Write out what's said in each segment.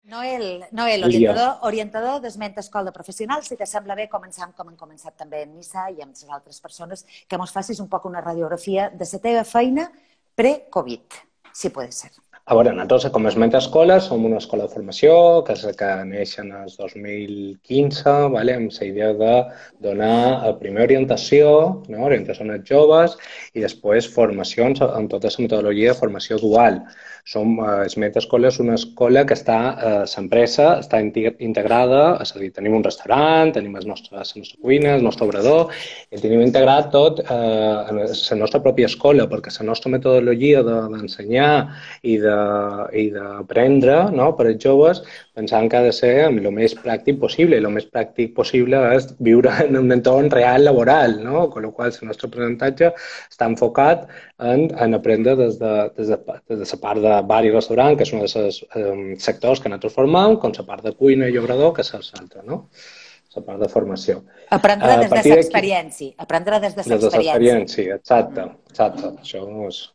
Noel, orientador d'Esment Escola Professional, si te sembla bé, començam com hem començat també en Nissa i amb les altres persones, que mos facis un poc una radiografia de la teva feina pre-Covid, si pot ser. A veure, nosaltres com a Esment Escola som una escola de formació que neix en el 2015, amb la idea de donar primer orientació als joves i després formacions amb tota la metodologia de formació dual. Esment Escola és una escola que l'empresa està integrada, és a dir, tenim un restaurant, tenim la nostra cuina, el nostre obrador, i tenim integrat tot en la nostra pròpia escola, perquè la nostra metodologia d'ensenyar i d'aprendre per als joves pensant que ha de ser el més pràctic possible. I el més pràctic possible és viure en un entorn real laboral, amb la qual cosa el nostre aprenentatge està enfocat en aprendre des de la part de bar i restaurant, que és un dels sectors que nosaltres formem, com la part de cuina i obrador, que és l'altra, la part de formació. Aprendre des de l'experiència. Aprendre des de l'experiència, exacte. Això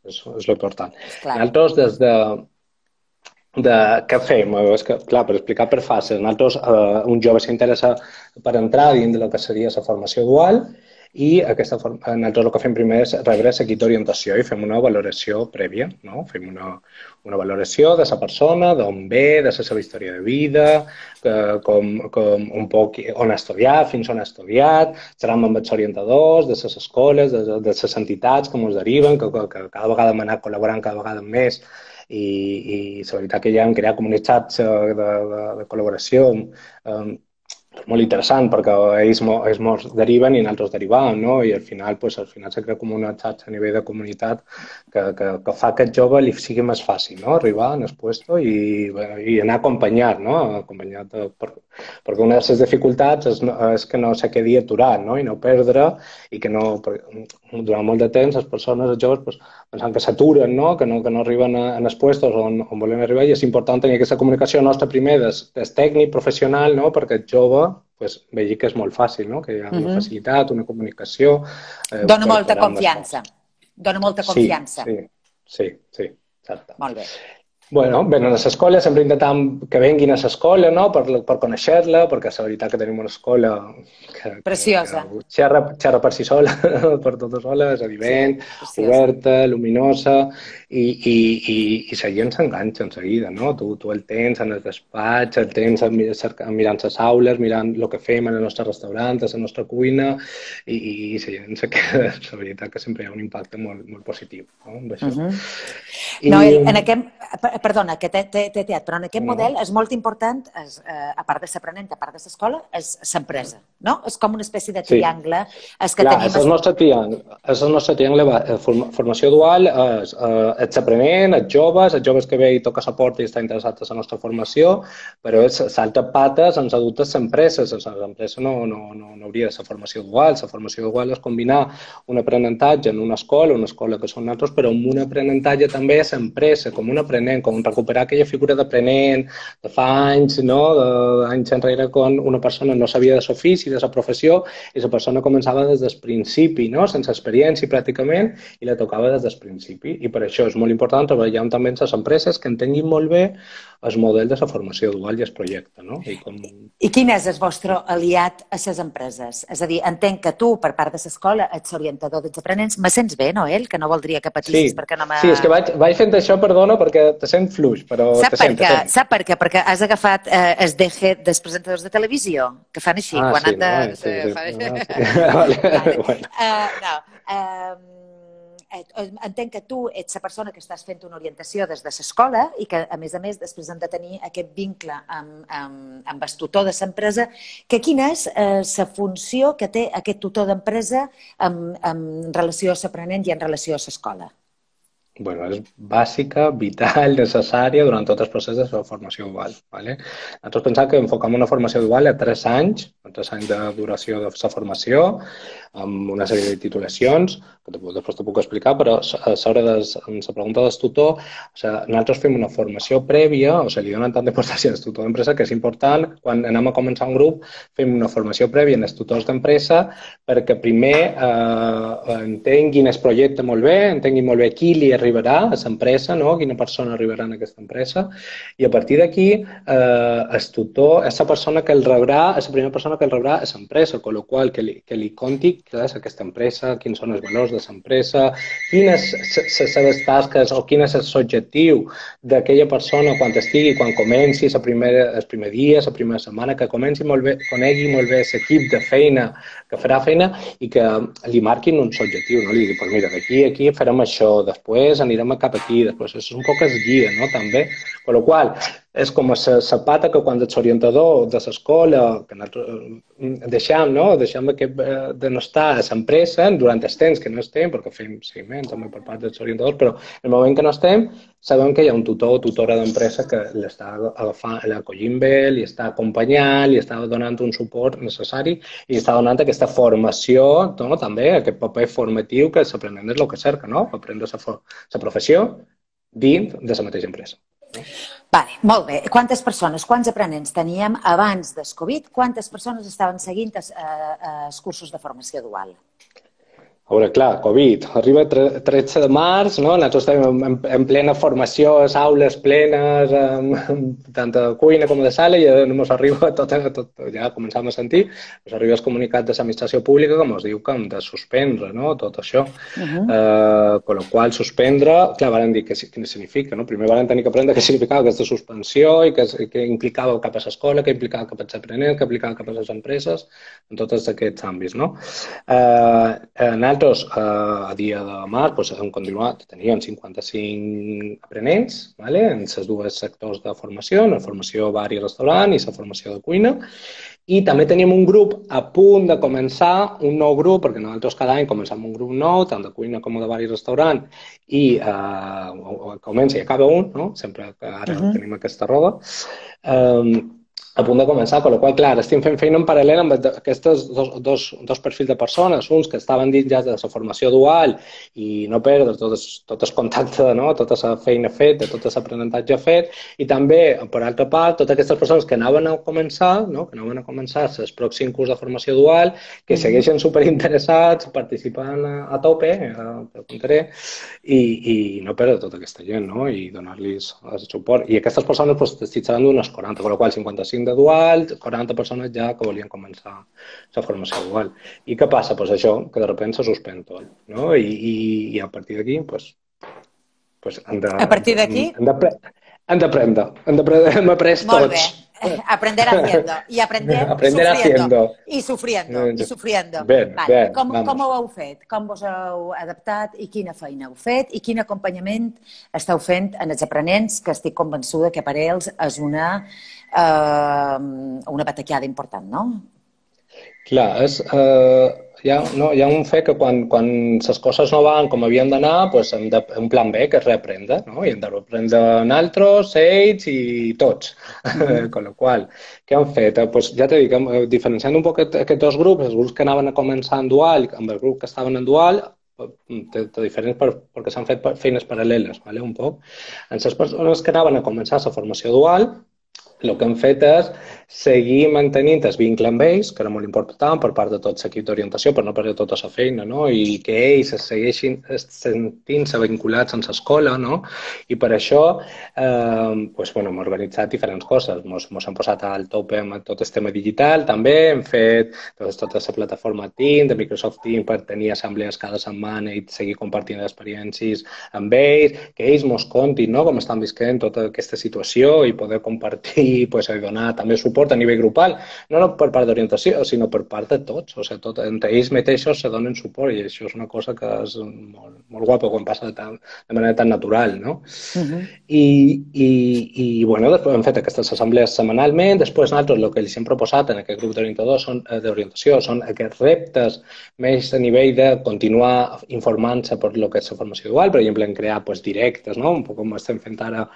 és l'important. Nosaltres, des de què fem? És que, clar, per explicar per fases, nosaltres, un jove s'interessa per entrar dins del que seria la formació dual i nosaltres el que fem primer és rebre la d'orientació i fem una valoració prèvia. Fem una valoració de la persona, d'on ve, de la seva història de vida, un poc on ha estudiat, fins on ha estudiat, xerram amb els orientadors de les escoles, de les entitats que ens deriven, que cada vegada hem anat col·laborant cada vegada més i la veritat que ja hem creat comunitats de col·laboració molt interessant perquè ells ens deriven i nosaltres derivem, i al final se crea com una xarxa a nivell de comunitat que fa que el jove li sigui més fàcil arribar en el lloc i anar acompanyat, perquè una de les dificultats és que no se quedi aturat i no perdre i que durant molt de temps les persones, els joves, pensant que s'aturen, que no arriben als llocs on volen arribar, i és important tenir aquesta comunicació nostra primer des tècnic, professional, perquè el jove vegi que és molt fàcil, que hi ha una facilitat, una comunicació. Dóna molta confiança. Dóna molta confiança. Sí, exacte. Molt bé. Bueno, venen a l'escola, sempre intentem que venguin a l'escola per conèixer-la, perquè és la veritat que tenim una escola preciosa. Xerra per si sola, per tota sola, és evident, oberta, luminosa, i la gent s'enganxa en seguida, Tu el tens en el despatx, el tens mirant les aules, mirant el que fem en el nostre restaurant, a la nostra cuina, i la gent se queda, la veritat que sempre hi ha un impacte molt positiu amb això. Noel, perdona, que t'he teat, però en aquest model és molt important, a part de l'aprenent, a part de l'escola, és l'empresa, no? És com una espècie de triangle. Clar, és el nostre triangle. Formació dual és l'aprenent, els joves que ve i toca la porta i està interessat en la nostra formació, però l'altra pata ens ha dut les empreses. L'empresa no hauria de ser formació dual. La formació dual és combinar un aprenentatge en una escola que són nosaltres, però amb un aprenentatge també a l'empresa, com un aprenent, com recuperar aquella figura d'aprenent de fa anys, d'anys enrere, quan una persona no sabia de l'ofici, de la professió, i la persona començava des del principi, sense experiència pràcticament, i la tocava des del principi. I per això és molt important treballar també amb les empreses que entenguin molt bé el model de la formació dual i el projecte. I quin és el vostre aliat a les empreses? És a dir, entenc que tu, per part de l'escola, ets orientador dels aprenents. Me sents bé, Noel? Que no voldria que patissis perquè no m'ha... Sí, és que vaig fent això, perdona, perquè te sent fluix, però te sent. Sap per què? Perquè has agafat el DG dels presentadors de televisió, que fan així. Entenc que tu ets la persona que estàs fent una orientació des de l'escola i que, a més, després hem de tenir aquest vincle amb el tutor de l'empresa. Quina és la funció que té aquest tutor d'empresa en relació a l'aprenent i en relació a l'escola? És bàsica, vital, necessària durant tot el procés de formació dual. Nosaltres pensem que enfocam una formació dual a 3 anys de duració de la formació, amb una sèrie de titulacions, que després t'ho puc explicar, però a sobre de la pregunta del tutor, nosaltres fem una formació prèvia, li donen tant d'importància al tutor d'empresa que és important, quan anem a començar un grup, fem una formació prèvia als tutors d'empresa perquè primer entenguin el projecte molt bé, entenguin molt bé qui li arribarà a l'empresa, no? Quina persona arribarà en aquesta empresa, i a partir d'aquí el tutor és la persona que el rebrà, és la primera persona que el rebrà a l'empresa, amb la qual que li conti què és aquesta empresa, quins són els valors de l'empresa, quines les seves tasques o quin és l'objectiu d'aquella persona quan estigui, quan comenci el primer dia, la primera setmana, que comenci molt bé, conegui molt bé l'equip de feina, que farà feina i que li marquin uns objectius, no? Li digui, pues mira, d'aquí a aquí farem això, després anirem cap aquí, després és un poc es guia, no? També, per la qual és com la pata que quan ets orientador de l'escola, que nosaltres deixem, no? Deixem de no estar a l'empresa durant el temps que no estem, perquè fem seguiment també per part dels orientadors, però en el moment que no estem, sabem que hi ha un tutor o tutora d'empresa que l'està agafant, l'acollint bé, li està acompanyant, li està donant un suport necessari i està donant aquesta formació, no? També aquest paper formatiu que l'aprenent és el que cerca, no? Aprendre la professió dins de la mateixa empresa. Vale, molt bé. Quantes persones, quants aprenents teníem abans del Covid? Quantes persones estaven seguint els cursos de formació dual? A veure, clar, Covid, arriba 13 de març, no? Nosaltres estem en plena formació, les aules plenes, tant de cuina com de sala, i ens arriba tot, ja començam a sentir, ens arriba el comunicat de l'administració pública que ens diu que hem de suspendre, no? Tot això. Con la qual suspendre, clar, van dir què significa, no? Primer van tenir que aprendre què significava aquesta suspensió i què implicava cap a l'escola, què implicava cap als aprenents, què implicava cap a les empreses, en tots aquests àmbits, no? Nosaltres, a dia de març, hem continuat, teníem 55 aprenents en els dos sectors de formació, en la formació bar i restaurant i la formació de cuina, i també teníem un grup a punt de començar, un nou grup, perquè nosaltres cada any començam un grup nou, tant de cuina com de bar i restaurant, i comença i acaba un, no? Sempre que ara tenim aquesta roda, a punt de començar, amb la qual cosa, clar, estem fent feina en paral·lel amb aquests dos perfils de persones, uns que estaven dins ja de la formació dual i no perdre tot el contacte, no? Tota la feina feta, tot l'aprenentatge fet, i també, per altra part, totes aquestes persones que anaven a començar, no? Que anaven a començar el pròxim curs de formació dual, que segueixen superinteressats, participant a tope, te ho contaré, i no perdre tota aquesta gent, no? I donar-los el suport. I aquestes persones desitjaran d'unes 40, per la qual 55 de dual, 40 persones ja que volien començar la formació dual. I què passa? Pues això, que de sobte se suspèn tot, no? I a partir d'aquí, pues hem de... A partir d'aquí? Hem d'aprendre, hem après tots. Molt bé. Aprender haciendo. Y aprender sufriendo. Y sufriendo. Y sufriendo. Ben. Com ho heu fet? Com vos heu adaptat i quina feina heu fet i quin acompanyament esteu fent en els aprenents, que estic convençuda que per ells és una bataquiada important, no? Clar, hi ha un fet que quan les coses no van com havien d'anar, hem de un plan B, que és reaprendre, no? I hem de reaprendre nosaltres, ells i tots. Con la qual, què han fet? Ja t'he dit, diferenciant un poc aquests dos grups, els grups que anaven a començar en dual amb els grups que estaven en dual, diferents perquè s'han fet feines paral·leles, un poc. En les persones que anaven a començar la formació dual, el que hem fet és seguir mantenint el vincle amb ells, que era molt important per part de tot l'equip d'orientació, per no perdre tota la feina, no? I que ells es segueixin sentint-se vinculats amb l'escola, no? I per això hem organitzat diferents coses. Ens hem posat al tope amb tot el tema digital, també hem fet tota la plataforma Teams, de Microsoft Teams, per tenir assemblees cada setmana i seguir compartint experiències amb ells, que ells ens contin com estan visquent tota aquesta situació i poder compartir i donar també suport a nivell grupal, no per part d'orientació, sinó per part de tots. O sigui, entre ells mateixos se donen suport i això és una cosa que és molt guapa quan passa de manera tan natural, no? I després hem fet aquestes assemblees setmanalment, després nosaltres el que els hem proposat en aquest grup d'orientadors d'orientació són aquests reptes més a nivell de continuar informant-se per el que és la formació dual, per exemple, en crear directes, no? Un poc com estem fent ara,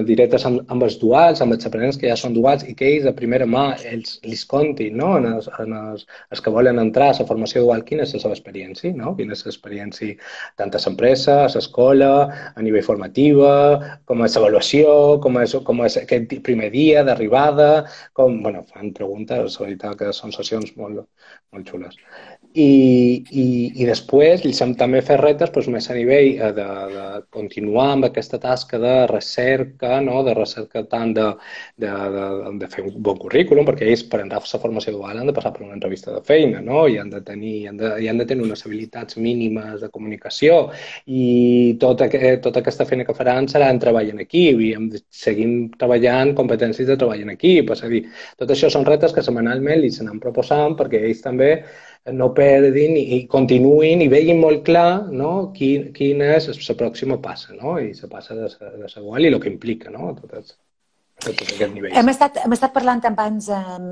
directes amb els duals, amb els aprenents que ja són duals i que ells de primera mà els contin, no? Els que volen entrar a la formació dual, quina és la seva experiència, no? Quina és l'experiència tant a l'empresa, a l'escola, a nivell formativa, com és l'avaluació, com és aquest primer dia d'arribada, bueno, fan preguntes, la veritat que són sessions molt xules. I després ells hem també fet reptes doncs, més a nivell de continuar amb aquesta tasca de recerca, no? De recerca tant de fer un bon currículum, perquè ells per entrar a la formació dual han de passar per una entrevista de feina, no? I han de tenir unes habilitats mínimes de comunicació i tota aquesta feina que faran serà en treball en equip i seguim treballant competències de treball en equip. És a dir, tot això són reptes que setmanalment els anem proposant perquè ells també no perdin i continuïn i vegin molt clar, no? Quina és la pròxima passa, no? I la passa de la dual i el que implica, no? Tots aquests nivells. Hem estat parlant abans amb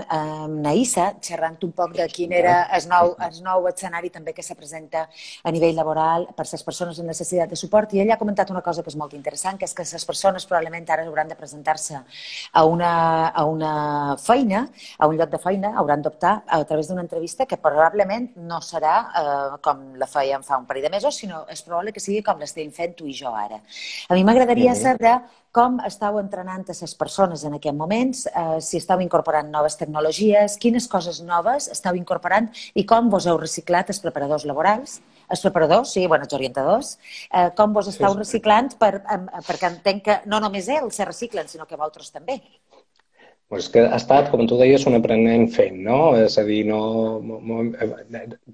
Naïssa, xerrant un poc de quin era el nou escenari també que se presenta a nivell laboral per les persones amb necessitat de suport, i ella ha comentat una cosa que és molt interessant, que és que les persones probablement ara hauran de presentar-se a una feina, a un lloc de feina, hauran d'optar a través d'una entrevista que probablement no serà com la fèiem fa un parell de mesos, sinó és probable que sigui com l'estem fent tu i jo ara. A mi m'agradaria saber com estàu entrenant a les persones en aquests moments, si estàu incorporant noves tecnologies, quines coses noves estàu incorporant i com vos heu reciclat els preparadors laborals, els preparadors, sí, bueno, els orientadors, com vos estàu reciclant perquè entenc que no només ells se reciclen, sinó que vosaltres també. És que ha estat, com tu deies, un aprenent fent, no? És a dir,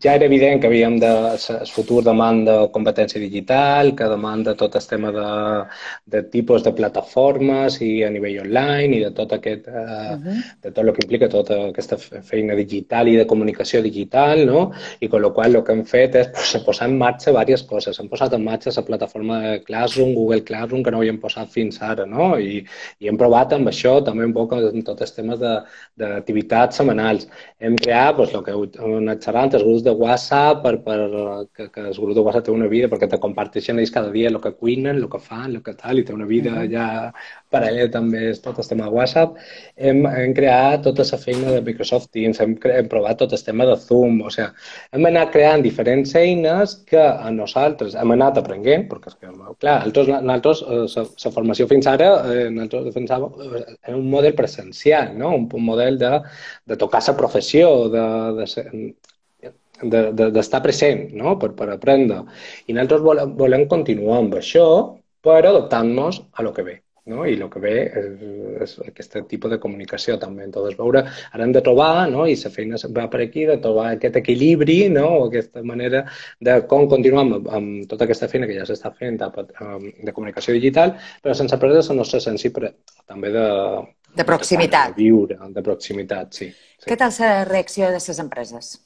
ja era evident que havíem el futur demanda competència digital, que demanda tot el tema de tipus de plataformes i a nivell online i de tot aquest, de tot el que implica tota aquesta feina digital i de comunicació digital, no? I amb la qual el que hem fet és posar en marxa diverses coses. Hem posat en marxa la plataforma de Classroom, Google Classroom, que no havíem posat fins ara, no? I hem provat amb això també un poc tots els temes d'activitats setmanals. Hem creat el que heu anat xerrant, els grups de WhatsApp, que els grups de WhatsApp tenen una vida perquè te comparteixen ells cada dia el que cuinen, el que fan, el que tal, i té una vida ja paral·lela també tot el tema de WhatsApp. Hem creat tota la feina de Microsoft Teams, hem provat tot el tema de Zoom, o sigui, hem anat creant diferents eines que a nosaltres hem anat aprenent, perquè, clar, nosaltres, la formació fins ara, nosaltres defensàvem un model presencial, no? Un model de tocar la professió, d'estar present, no? Per aprendre. I nosaltres volem continuar amb això, però adaptant-nos a lo que ve. No? I el que ve és aquest tipus de comunicació també. Entonces, veure, ara hem de trobar, no? I la feina va per aquí, de trobar aquest equilibri, no? O aquesta manera de com continuar amb tota aquesta feina que ja s'està fent de comunicació digital, però sense perdre la nostra essència també de proximitat. De viure, de proximitat, sí. Què tal la reacció de les empreses?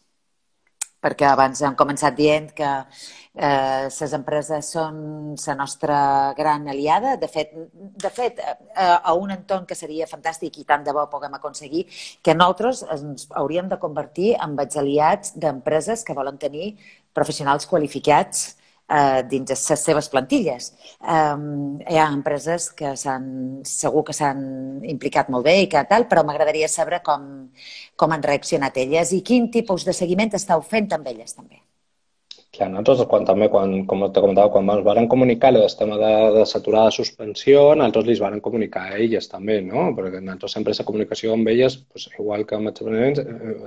Perquè abans hem començat dient que les empreses són la nostra gran aliada. De fet, a un entorn que seria fantàstic i tant de bo puguem aconseguir, que nosaltres ens hauríem de convertir en els aliats d'empreses que volen tenir professionals qualificats dins les seves plantilles. Hi ha empreses que segur que s'han implicat molt bé i que tal, però m'agradaria saber com han reaccionat elles i quin tipus de seguiment estàu fent amb elles també. Clar, nosaltres, com te comentava, quan ens van comunicar el tema de s'aturada de suspensió, nosaltres els van comunicar a elles també, no? Perquè nosaltres sempre la comunicació amb elles, igual que amb els aprenents,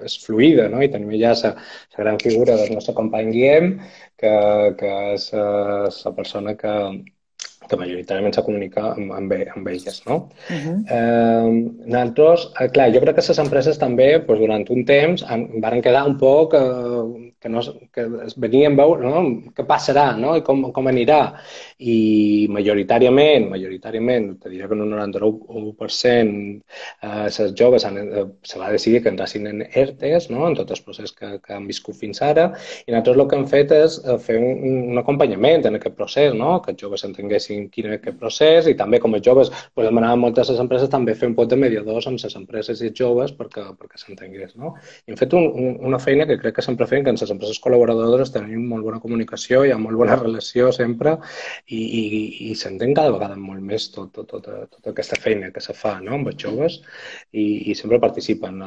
és fluida, no? I tenim ja la gran figura del nostre company Guillem, que és la persona que majoritàriament se comunica amb elles, no? Nosaltres, clar, jo crec que les empreses també, durant un temps, van quedar un poc que venien a veure, no? Què passarà, no? I com anirà. I majoritàriament, te diré que en un 99% les joves se va decidir que entrassin en ERTEs, no? En tot el procés que han viscut fins ara, i nosaltres el que hem fet és fer un acompanyament en aquest procés, no? Que els joves entenguessin quin és aquest procés i també com els joves demanàvem moltes les empreses també fer un pot de mediadors amb les empreses i els joves perquè s'entengués, no? I hem fet una feina que crec que sempre fem, que ens les empreses col·laboradores tenim molt bona comunicació, hi ha molt bona relació sempre i s'entén cada vegada molt més tota aquesta feina que se fa, no?, amb els joves i sempre participen.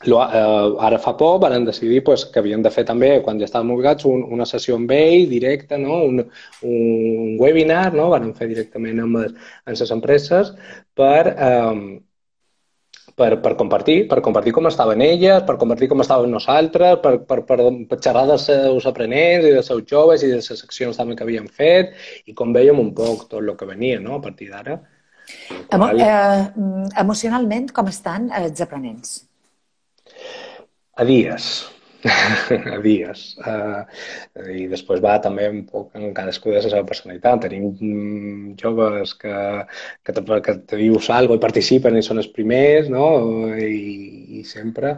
Ara fa poc van decidir que havien de fer també, quan ja estàvem ubicats, una sessió amb ell directa, no? Un webinar, no? Van fer directament amb les empreses per compartir com estaven elles, per compartir com estàvem nosaltres, per xerrar dels seus aprenents i dels seus joves i de les seccions també que havíem fet i com vèiem un poc tot el que venia, no?, a partir d'ara. Emocionalment, com estan els aprenents? A dies. A dies. I després va també un poc en cadascú de la seva personalitat. Tenim joves que te dius alguna cosa i participen i són els primers, no? I sempre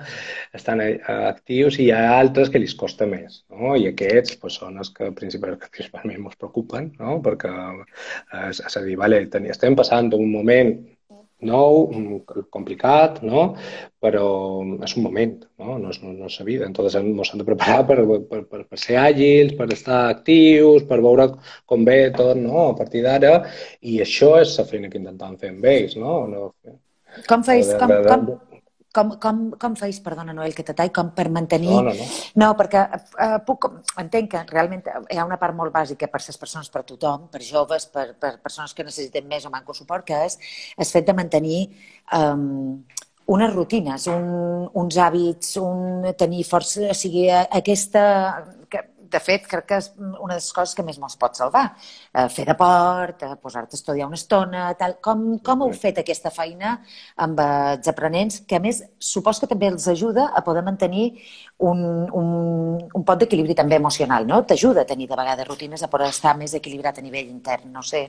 estan actius i hi ha altres que els costa més, no? I aquests són els que principalment ens preocupen, no? Perquè, és a dir, vale, estem passant un moment nou, complicat, no? Però és un moment, no? No és la vida. Entonces ens hem de preparar per ser àgils, per estar actius, per veure com ve tot, no?, a partir d'ara. I això és la feina que intentem fer amb ells, no? Com feis? Com feis, perdona, Noel, que t'atall, com per mantenir... No. No, perquè entenc que realment hi ha una part molt bàsica per les persones, per tothom, per joves, per persones que necessiten més o manco suport, que és el fet de mantenir unes rutines, uns hàbits, tenir força, o sigui, aquesta... De fet, crec que és una de les coses que més ens pot salvar. Fer deport, posar-te a estudiar una estona, tal. Com heu fet aquesta feina amb els aprenents, que a més supos que també els ajuda a poder mantenir un pot d'equilibri també emocional, no? T'ajuda a tenir de vegades rutines, a poder estar més equilibrat a nivell intern, no sé.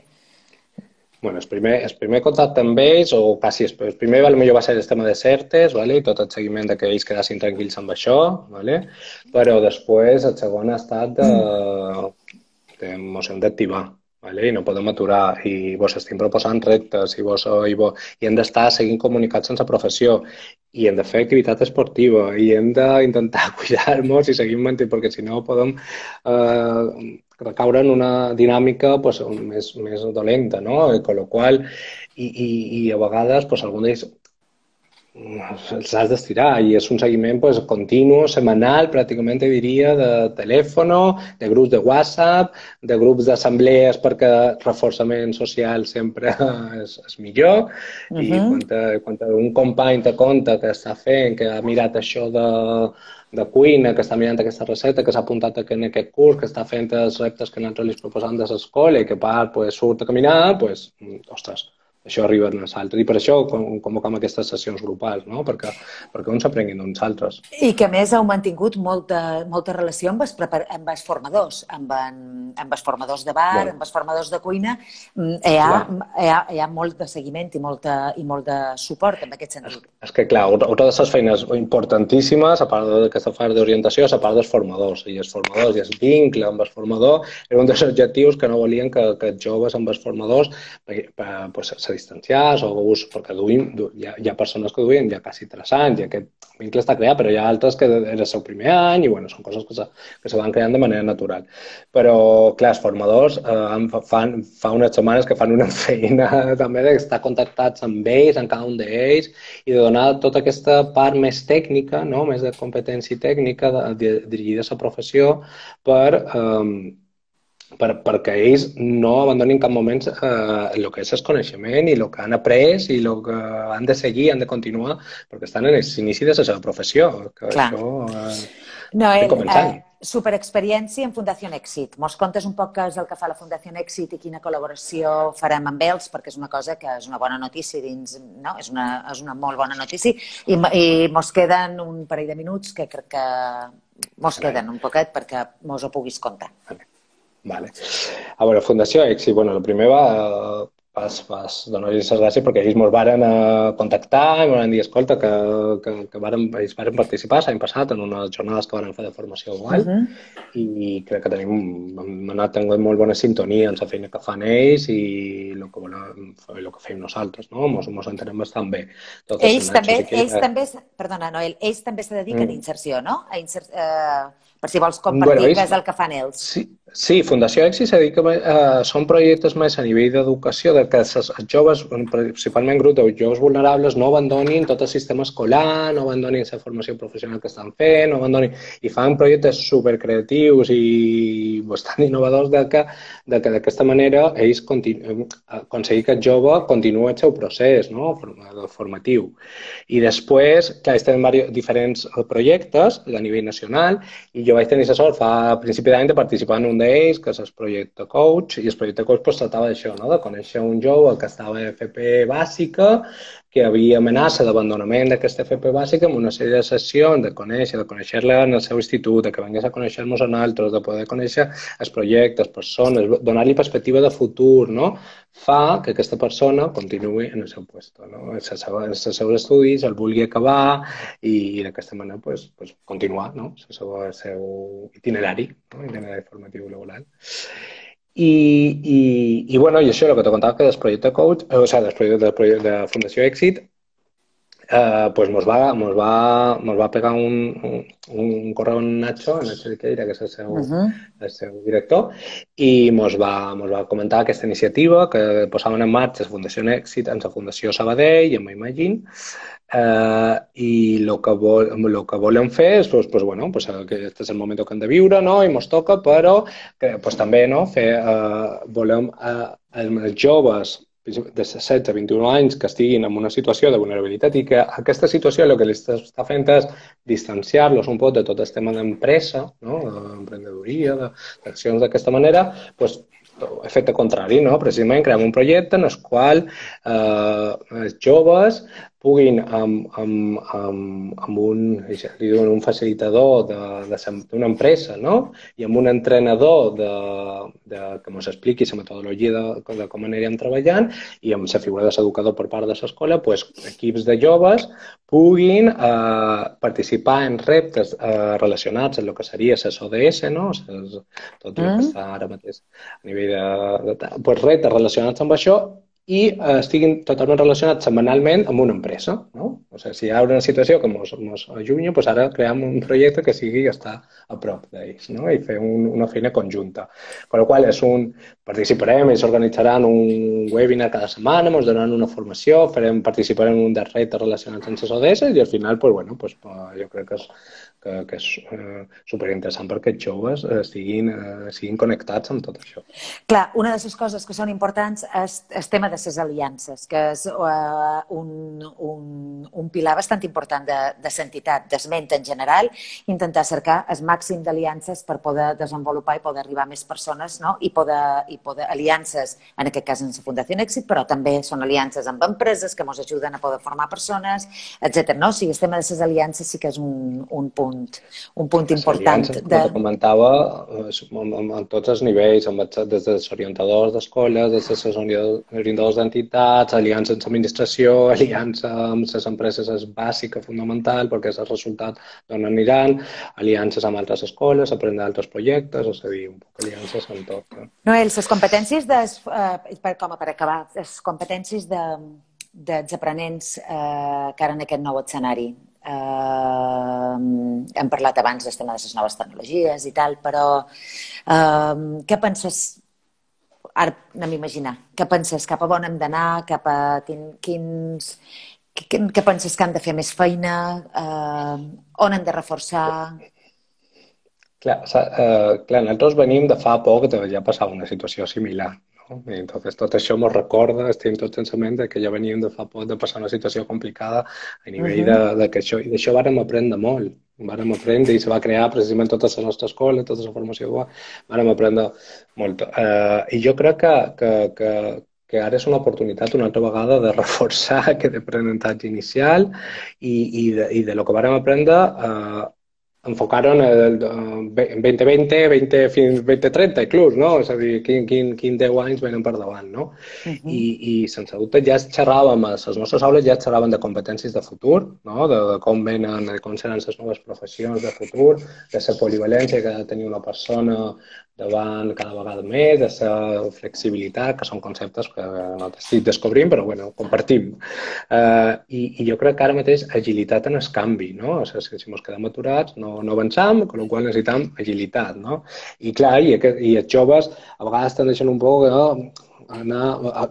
Bueno, el primer contacte amb ells, o quasi el primer potser va ser el tema de certes, i tot el seguiment que ells quedassin tranquils amb això, però després el segon ha estat d'emoció d'activar, i no podem aturar, i vos estem proposant reptes, i hem d'estar seguint comunicats sense professió, i hem de fer activitat esportiva, i hem d'intentar cuidar-nos i seguir mantenint, perquè si no podem recaure en una dinàmica més dolenta, no? Con lo qual, i a vegades algun d'ells els has d'estirar i és un seguiment continu, setmanal, pràcticament diria, de telèfon, de grups de WhatsApp, de grups d'assemblees perquè el reforçament social sempre és millor i quan un company te conta que està fent, que ha mirat això de cuina, que està mirant aquesta recepta, que s'ha apuntat en aquest curs, que està fent els reptes que nosaltres li proposam de l'escola i que surt a caminar, ostres, això arriba a nosaltres. I per això convocam aquestes sessions grupals, no? Perquè uns s'aprenguin d'uns altres. I que a més heu mantingut molta relació amb els formadors, amb els formadors de bar, amb els formadors de cuina. Hi ha molt de seguiment i molt de suport en aquest sentit. És que, clar, una de les feines importantíssimes, a part d'aquesta feina d'orientació, és a part dels formadors. I els formadors i el vincle amb els formadors era un dels objectius que no volien que els joves amb els formadors se distanciats, perquè hi ha persones que duien ja quasi 3 anys i aquest vincle està creat, però hi ha altres que era el seu primer any i són coses que se van creant de manera natural. Però, clar, els formadors fa unes setmanes que fan una feina també d'estar contactats amb ells, amb cada un d'ells, i de donar tota aquesta part més tècnica, més de competència tècnica dirigida a la professió perquè ells no abandonin en cap moment el que és el coneixement i el que han après i el que han de seguir, han de continuar, perquè estan en l'inici de la seva professió. Clar. Noel, superexperiència en Fundació Èxit. Mos contes un poc què és el que fa la Fundació Èxit i quina col·laboració farem amb ells, perquè és una cosa que és una bona notícia dins, no? És una molt bona notícia i mos queden un parell de minuts que crec que mos queden un poquet perquè mos ho puguis contar. Vale. A veure, Fundació Èxit, el primer donar-los les gràcies perquè ells ens varen contactar i ens van dir, escolta, que ells varen participar l'any passat en unes jornades que van fer de formació igual i crec que hem anat tenint molt bona sintonia en la feina que fan ells i el que fem nosaltres, no? Ens entenem bastant bé. Perdona, Noel, ells també se dediquen a inserció, no? Per si vols compartir què és el que fan ells. Sí, Fundació Èxit se dedica són projectes més a nivell d'educació, que els joves, principalment grup de joves vulnerables, no abandonin tot el sistema escolar, no abandonin la formació professional que estan fent, no abandonin, i fan projectes supercreatius i bastant innovadors que d'aquesta manera ells aconseguir que el jove continuï el seu procés, no? Formatiu. I després, clar, ells tenen diferents projectes a nivell nacional i jo vaig tenir la sort a principi d'any de participar en un d'ells, que és el projecte Coach, i el projecte Coach tractava d'això, no? De conèixer un jove que estava a FP bàsica, que hi havia amenaça d'abandonament d'aquesta FP bàsica amb una sèrie de sessions, de conèixer-la en el seu institut, que vingués a conèixer-nos a nosaltres, de poder conèixer els projectes, persones, donar-li perspectiva de futur, no? Fa que aquesta persona continuï en el seu lloc, no? Els seus estudis, el vulgui acabar i d'aquesta manera continuar, no? El seu itinerari, no? Itinerari formatiu laboral. I això, el que te contava que del projecte Coach, del projecte de Fundació Èxit, mos va pegar un correu en Nacho Riqueira, que és el seu director, i mos va comentar aquesta iniciativa que posaven en marxa la Fundació Èxit en la Fundació Sabadell i en Imagine, i el que volem fer és que aquest és el moment que hem de viure, no? I ens toca, però també volem els joves de 16 a 21 anys que estiguin en una situació de vulnerabilitat i que aquesta situació el que li està fent és distanciar-los un poc de tot el tema d'empresa, no? D'emprenedoria, d'accions d'aquesta manera, efecte contrari, no? Precisament creem un projecte en el qual els joves puguin amb un facilitador d'una empresa, no? I amb un entrenador que ens expliqui la metodologia de com anirem treballant i amb la figura de l'educador per part de l'escola, equips de joves puguin participar en reptes relacionats amb el que seria les ODS, no? Tot el que està ara mateix a nivell de reptes relacionats amb això i estiguin totalment relacionats setmanalment amb una empresa, no? O sigui, si hi ha una situació que ens allunya, ara creem un projecte que sigui estar a prop d'ells, no? I fer una feina conjunta. Per la qual participarem, ells organitzaran un webinar cada setmana, ens donaran una formació, participarem en un dels reptes relacionats amb les ODS i al final, jo crec que és superinteressant perquè els joves siguin connectats amb tot això. Clar, una de les coses que són importants és el tema de les aliances, que és un pilar bastant important de l'entitat, d'esment en general, intentar cercar el màxim d'aliances per poder desenvolupar i poder arribar a més persones, no? I poder aliances, en aquest cas en la Fundació Èxit, però també són aliances amb empreses que ens ajuden a poder formar persones, etc. No? O sigui, el tema de les aliances sí que és un punt important. Com comentava, en tots els nivells, des dels orientadors d'escoles, des dels orientadors d'entitats, aliança amb l'administració, aliança amb les empreses és bàsica, fundamental, perquè és el resultat d'on aniran, aliances amb altres escoles, aprendre altres projectes, és a dir, un poc aliances amb tot. Noel, les competències, com per acabar, les competències dels aprenents que ara en aquest nou escenari. Hem parlat abans del tema de les noves tecnologies i tal, però què penses, ara anem a imaginar, què penses, cap a on hem d'anar, cap a què penses que han de fer més feina, on hem de reforçar? Clar, nosaltres venim de fa poc que ja passava una situació similar. I entonces tot això ens recorda, estem tots en ment que ja veníem de fa poc de passar una situació complicada a nivell que això, i d'això vàrem aprendre molt, i se va crear precisament tota la nostra escola, tota la formació, vàrem aprendre molt. I jo crec que ara és una oportunitat una altra vegada de reforçar aquest aprenentatge inicial i de lo que vàrem aprendre enfocaron el 2020, 20, fins 2030 inclús, no? És a dir, quin 10 anys venen per davant, no? I sense dubte ja xerràvem, a les nostres aules ja xerràvem de competències de futur, no? De com venen, de com seran les noves professions de futur, de la polivalència que ha de tenir una persona davant cada vegada més, de la flexibilitat, que són conceptes que no estic descobrint, però bueno, compartim. I jo crec que ara mateix agilitat en el canvi, no? O sigui, si ens quedem aturats no avançam, amb la qual necessitem agilitat, no? I clar, i els joves a vegades tendeixen un poc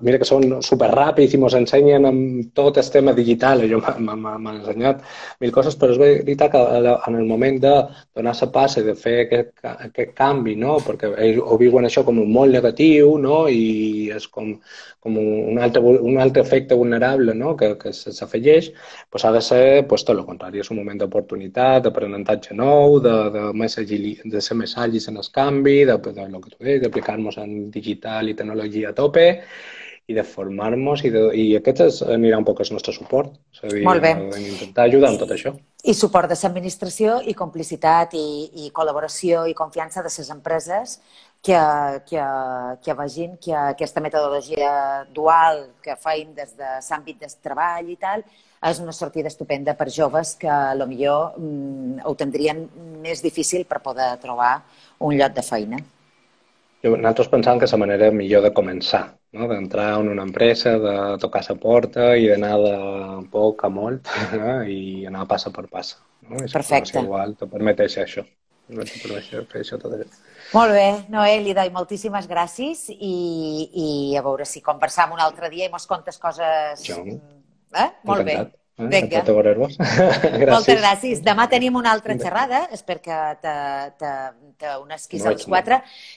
mira que són superràpids i ens ensenyen amb tot el tema digital, jo m'han ensenyat mil coses, però és veritat que en el moment de donar la passa i de fer aquest canvi, no? Perquè ells ho viuen això com un molt negatiu, no? I és com un altre efecte vulnerable, no? Que s'afegeix, doncs ha de ser tot el contrari, és un moment d'oportunitat, d'aprenentatge nou, de ser més àgils en el canvi, de lo que tu deies, d'aplicar-nos en digital i tecnologia a tope i de formar-nos i aquest anirà un poc el nostre suport. És a dir, intentar ajudar amb tot això. I suport de l'administració i complicitat i col·laboració i confiança de les empreses que vegin que aquesta metodologia dual que feim des de l'àmbit del treball i tal és una sortida estupenda per joves que potser ho tindrien més difícil per poder trobar un lloc de feina. Nosaltres pensàvem que és la manera millor de començar, no? D'entrar en una empresa, de tocar la porta i d'anar de poc a molt i anar passa per passa. Perfecte. Igual te permeteix això. Fer això tot això. Molt bé, Noel, moltíssimes gràcies i a veure si conversam un altre dia i mos contes coses... Molt bé. Vinga. Moltes gràcies. Demà tenim una altra xerrada, espero que t'unesquis als 4.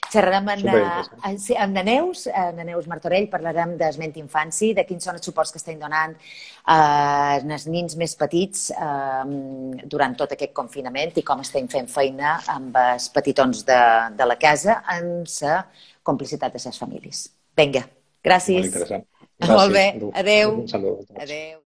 Xerrarem amb Neus Martorell, parlarem del ment infanci, de quins són els suports que estem donant als nins més petits durant tot aquest confinament i com estem fent feina amb els petitons de la casa amb la complicitat de les famílies. Vinga, gràcies. Molt interessant. Molt bé, adéu. Un salut. Adéu.